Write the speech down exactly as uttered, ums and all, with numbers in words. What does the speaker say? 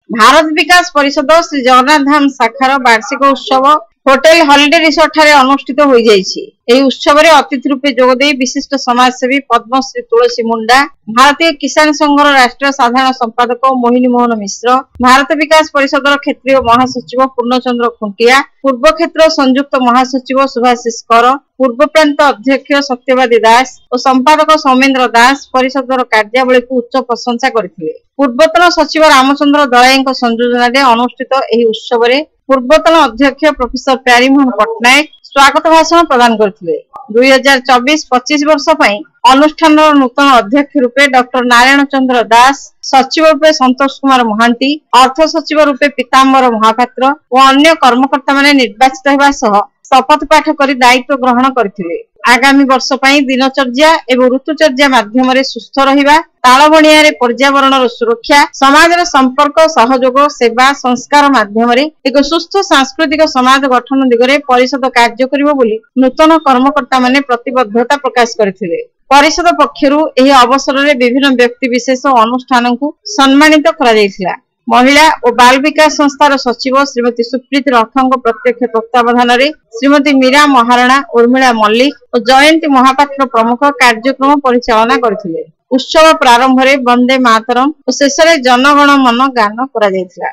ଭାରତ ବିକାଶ ପରିଷଦ ଶ୍ରୀ ଜଗନ୍ନାଥ ଧାମ ଶାଖାର ବାର୍ଷିକ ଉତ୍ସବ ହୋଟେଲ ହଲିଡେ ରିସୋର୍ଟ ଠାରେ ଅନୁଷ୍ଠିତ ହୋଇଯାଇଛି। ଏହି ଉତ୍ସବରେ ଅତିଥି ରୂପେ ଯୋଗଦେଇ ବିଶିଷ୍ଟ ସମାଜସେବୀ ପଦ୍ମଶ୍ରୀ ତୁଳସୀ ମୁଣ୍ଡା, ଭାରତୀୟ କିଷାନ ସଂଘର ରାଷ୍ଟ୍ରୀୟ ସାଧାରଣ ସମ୍ପାଦକ ମୋହିନୀ ମୋହନ ମିଶ୍ର, ଭାରତ ବିକାଶ ପରିଷଦର କ୍ଷେତ୍ରୀୟ ମହାସଚିବ ପୂର୍ଣ୍ଣଚନ୍ଦ୍ର ଖୁଣ୍ଟିଆ, ପୂର୍ବ କ୍ଷେତ୍ର ସଂଯୁକ୍ତ ମହାସଚିବ ସୁଭାଶିଷ କର, ପୂର୍ବ ପ୍ରାନ୍ତ ଅଧ୍ୟକ୍ଷ ସତ୍ୟବାଦୀ ଦାସ ଓ ସମ୍ପାଦକ ସୌମେନ୍ଦ୍ର ଦାସ ପରିଷଦର କାର୍ଯ୍ୟାବଳୀକୁ ଉଚ୍ଚ ପ୍ରଶଂସା କରିଥିଲେ। ପୂର୍ବତନ ସଚିବ ରାମଚନ୍ଦ୍ର ଦଳାଇଙ୍କ ସଂଯୋଜନାରେ ଅନୁଷ୍ଠିତ ଏହି ଉତ୍ସବରେ ପୂର୍ବତନ ଅଧ୍ୟକ୍ଷ ପ୍ରଫେସର ପ୍ୟାରୀମୋହନ ପଟ୍ଟନାୟକ ସ୍ୱାଗତ ଭାଷଣ ପ୍ରଦାନ କରିଥିଲେ। ଦୁଇ ହଜାର ଚବିଶ ପଚିଶ ବର୍ଷ ପାଇଁ ଅନୁଷ୍ଠାନର ନୂତନ ଅଧ୍ୟକ୍ଷ ରୂପେ ଡକ୍ଟର ନାରାୟଣ ଚନ୍ଦ୍ର ଦାସ, ସଚିବ ରୂପେ ସନ୍ତୋଷ କୁମାର ମହାନ୍ତି, ଅର୍ଥ ସଚିବ ରୂପେ ପୀତାମ୍ବର ମହାପାତ୍ର ଓ ଅନ୍ୟ କର୍ମକର୍ତ୍ତାମାନେ ନିର୍ବାଚିତ ହେବା ସହ ଶପଥ ପାଠ କରି ଦାୟିତ୍ୱ ଗ୍ରହଣ କରିଥିଲେ। ଆଗାମୀ ବର୍ଷ ପାଇଁ ଦିନଚର୍ଯ୍ୟା ଏବଂ ଋତୁଚର୍ଯ୍ୟା ମାଧ୍ୟମରେ ସୁସ୍ଥ ରହିବା, ତାଳବଣିଆରେ ପର୍ଯ୍ୟାବରଣର ସୁରକ୍ଷା, ସମାଜର ସମ୍ପର୍କ, ସହଯୋଗ, ସେବା, ସଂସ୍କାର ମାଧ୍ୟମରେ ଏକ ସୁସ୍ଥ ସାଂସ୍କୃତିକ ସମାଜ ଗଠନ ଦିଗରେ ପରିଷଦ କାର୍ଯ୍ୟ କରିବ ବୋଲି ନୂତନ କର୍ମକର୍ତ୍ତାମାନେ ପ୍ରତିବଦ୍ଧତା ପ୍ରକାଶ କରିଥିଲେ। ପରିଷଦ ପକ୍ଷରୁ ଏହି ଅବସରରେ ବିଭିନ୍ନ ବ୍ୟକ୍ତି ବିଶେଷ ଓ ଅନୁଷ୍ଠାନକୁ ସମ୍ମାନିତ କରାଯାଇଥିଲା। ମହିଳା ଓ ବାଲ ବିକାଶ ସଂସ୍ଥାର ସଚିବ ଶ୍ରୀମତୀ ସୁପ୍ରୀତି ରଥଙ୍କ ପ୍ରତ୍ୟକ୍ଷ ତତ୍ତ୍ୱାବଧାନରେ ଶ୍ରୀମତୀ ମୀରା ମହାରଣା, ଉର୍ମିଳା ମଲ୍ଲିକ ଓ ଜୟନ୍ତୀ ମହାପାତ୍ର ପ୍ରମୁଖ କାର୍ଯ୍ୟକ୍ରମ ପରିଚାଳନା କରିଥିଲେ। ଉତ୍ସବ ପ୍ରାରମ୍ଭରେ ବନ୍ଦେ ମାତରମ୍ ଓ ଶେଷରେ ଜନଗଣ ମନ ଗାନ କରାଯାଇଥିଲା।